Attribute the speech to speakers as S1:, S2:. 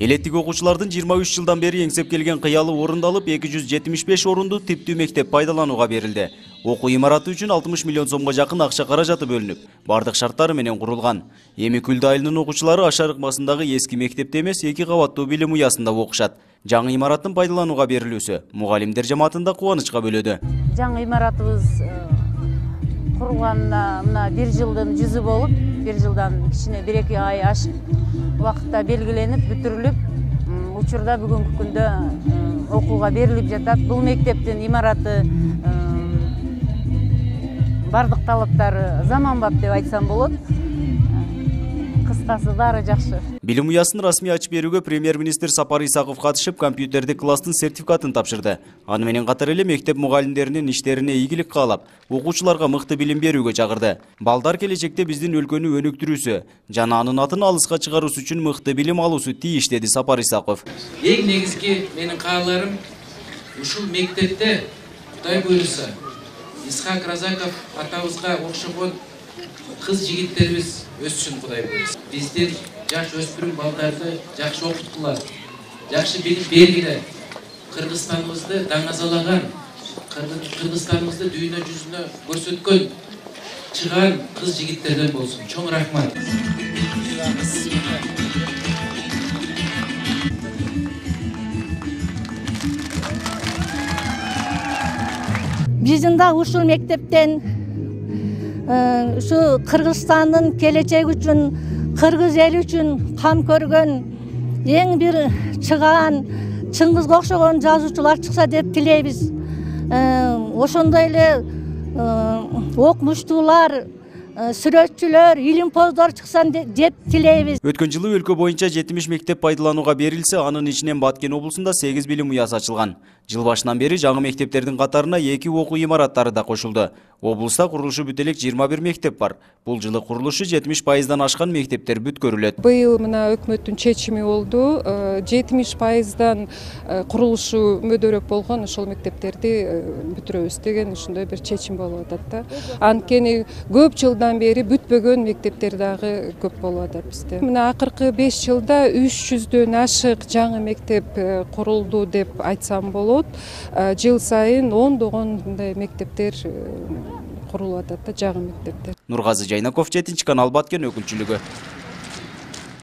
S1: Элеттик окуучулардын 23 жылдан бери эңсеп келген кыялы орундалып, 275 орунду типтүү мектеп пайдаланууга берилди. Окуу имараты үчүн 60 миллион сомго жакын акча каражаты бөлүнүп, бардык шарттары менен курулган. Эми Күлдү айылынын окуучулары Ашар ыкмасындагы эски мектепте эмес, 2 кабаттуу билим уясында окушат. Жаңы имараттын пайдаланууга берилүүсү мугалимдер жамаатында кубанычка бөлөдү.
S2: Жаңы имаратыбыз курулганына мына 1 жылдын жүзү болуп, 1 жылдан кичине 1-2 ай ашып, убакытта белгиленип, бүтүрүлүп, учурда бүгүнкү күндө окууга берилип жатат. Бул мектептин имараты бардык талаптары заманбап деп айтсам болот. Кыскасы баары жакшы.
S1: Билим уясын расмий ачып берүүгө премьер-министр Сапар Исаков катышып, компьютердик класстын сертификатын тапшырды. Аны менен катар эле мектеп мугалимдеринин иштерине ийгилик каалап, окуучуларга мыкты билим берүүгө чакырды. Балдар келечекте биздин өлкөнү өнүктүрүүсү жана анын атын алыска чыгаруусу үчүн мыкты билим алуусу тийиш, деди Сапар Исаков.
S3: Эң негизги менин кааларым ушул мектепте Кудай буйруса Исхак Разаков атабызга окшогон кыз жигиттерибиз өссүн, Кудай буйруса. Биздин жаш өспүрүм балдарды жакшы окуткула, жакшы билим бергиле. Кыргызстаныбызды даңазалаган, Кыргызстаныбызды дүйнө жүзүнө көрсөткөн чыган кыз жигиттерден болсун. Чоң рахмат.
S4: Биздин да ушул мектептен ушу Кыргызстандын келечеги үчүн, кыргыз эли үчүн кам көргөн эң бир чыгаан Чыңгызга окшогон жазуучулар чыкса деп тилейбиз. Ошондой эле окумуштуулар, сүрөтчүлөр, илимпоздор чыксын деп тилейбиз.
S1: Өткөн жылы өлкө боюнча 70 мектеп пайдаланууга берилсе, анын ичинен Баткен облусунда 8 билим уясы ачылган. Жыл башынан бери жаңы мектептердин катарына 2 окуу имараттары да кошулду. Облуста курулушу бүт элек 21 мектеп бар. Бул жылы курулушу 70% ашкан мектептер бүткөрүлөт.
S5: Быйыл мына өкмөттүн чечими болду. 70% курулушу мөдөрөк болгон ошол мектептерди бүтүрөбүз деген ушундай бир чечим болуп атат да. Анткени көп жылдан бери бүтпөгөн мектептер дагы көп болуп атат бизде. Мына акыркы 5 жылда 300дөн ашык жаңы мектеп курулду деп айтсам болот. Жыл сайын ондогондай мектептер курулуп атат да, жаңы мектептер.
S1: Нургазы Жайнаков, 7 канал, Баткен өкүлчүлүгү.